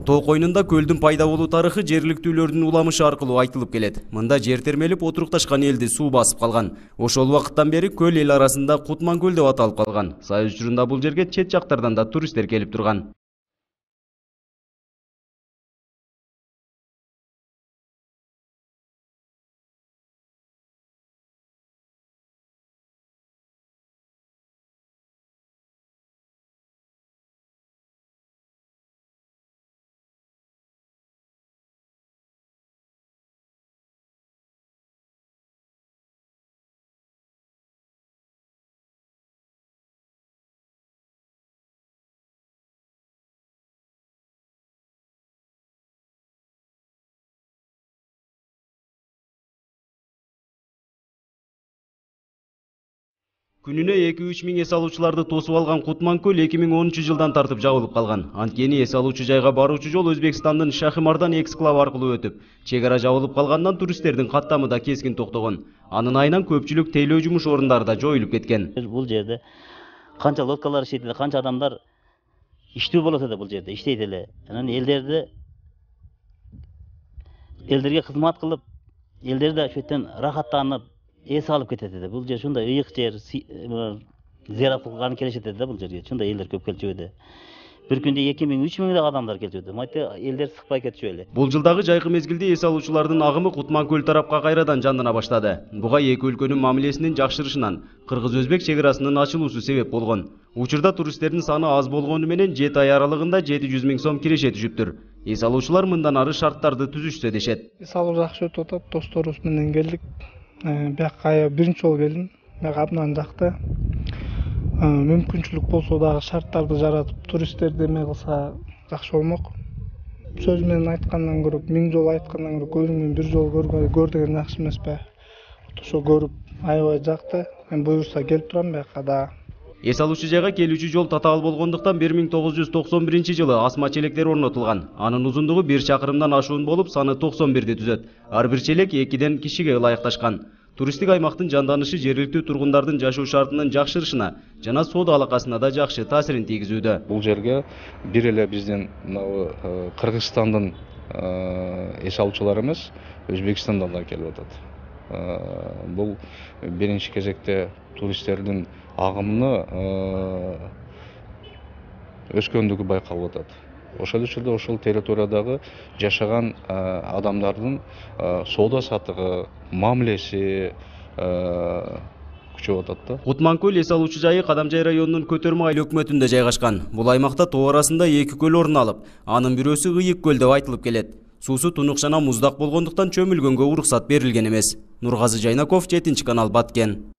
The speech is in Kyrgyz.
Тоо койнунда көлдүн пайда болуу тарыхы жергиликтүүлөрдүн уламышы аркылуу айтылып келет. Мында жер термелип отурукташкан элди суу басып калган. Ошол убакыттан бери көл эл арасында Кутман көл деп аталып калган. Сайыз учурунда бул жерге чет жактардан да туристтер келип турган. Күнүнө 2-3 миң эс алуучуларды тосуп алган Кутман көл 2010-жылдан тартып жабылып калган. Анткени эс алуучу жайга баруучу жол Өзбекстандын Шахимардан эксклав аркылуу өтүп, чек ара жабылып калгандан туристтердин каттамы да кескин токтогон. Анын айынан көпчүлүк тейлөө жумуш орундары да жоюлуп кеткен. Бул жерде канча лодкалар иштейт эле, канча адамдар иштөө болот эле бул жерде, иштейт эле. Анан элдерге кызмат кылып, элдер да ошо жерден рахаттанып, эс алып кетет эди. Бул жер ушундай ыйык жер, зыярат кылганы келишет эди да бул жерге. Ушундай элдер көп келчү эди. Bir күндө 2000-3 миңдей адамдар келчү эди. Майты элдер сыкпай кетчү эле. Бул жылдагы жайкы мезгилде эс алуучулардын агымы Кутман көл тарапка кайрадан жандана баштады. Буга эки өлкөнүн мамилесинин жакшырышынан кыргыз-өзбек чек арасынын ачылуусу себеп болгон. Учурда туристтердин саны аз болгону менен 7 ай аралыгында 700 миң сом киреше түшүптүр. Эс алуучулар мындан ары шарттарды түзүшсө дешет. Эс алуу жакшы өтүп атат, досторубуз менен келдик. Бияка биринчи жолу келдим. Бияка абдан жакты. Мүмкүнчүлүк болсо дагы шарттарды жаратып, туристтерди эме кылса жакшы болмок. Сөз менен айткандан көрө, 1000 жолу айткандан көрө, көзүңдөн бир жолу көр деген жакшы эмеспи? Ошо көрүп аябай жакты. Мен буюрса келип турам бияка да. Эс алуучу жайга келүүчү жол татаал болгондуктан 1991-жылы асма челектер орнотулган. Анын узундугу 1 чакырымдан ашуун болуп, саны 91ди түзөт. Ар бир челек 2ден кишиге ылайыкташкан. Туристтик аймактын жанданышы жергиликтүү тургундардын жашоо шартынын жакшырышына жана соода алакасына да жакшы таасирин тийгизүүдө. Бул жерге бир эле биздин Кыргызстандын эс алуучулары эмес, Өзбекстандан да келип атат. Бул биринчи кезекте туристтердин агымыны өскөндүгү байкалып атат. Ошол учурда ошол территориядагы жашаган адамдардын соода сатыгы, мамилеси күчөп атат да. Кутман көл эс алуучу жайы Кадамжай районунун Көтөрмө айыл өкмөтүндө жайгашкан. Бул аймакта тоо арасында 2 көл орун алып, анын бирөөсү Ыйык көл деп айтылып келет. Суусу тунук жана муздак болгондуктан чөмүлгөнгө уруксат берилген эмес. Нургазы Жайнаков, 7 канал, Баткен.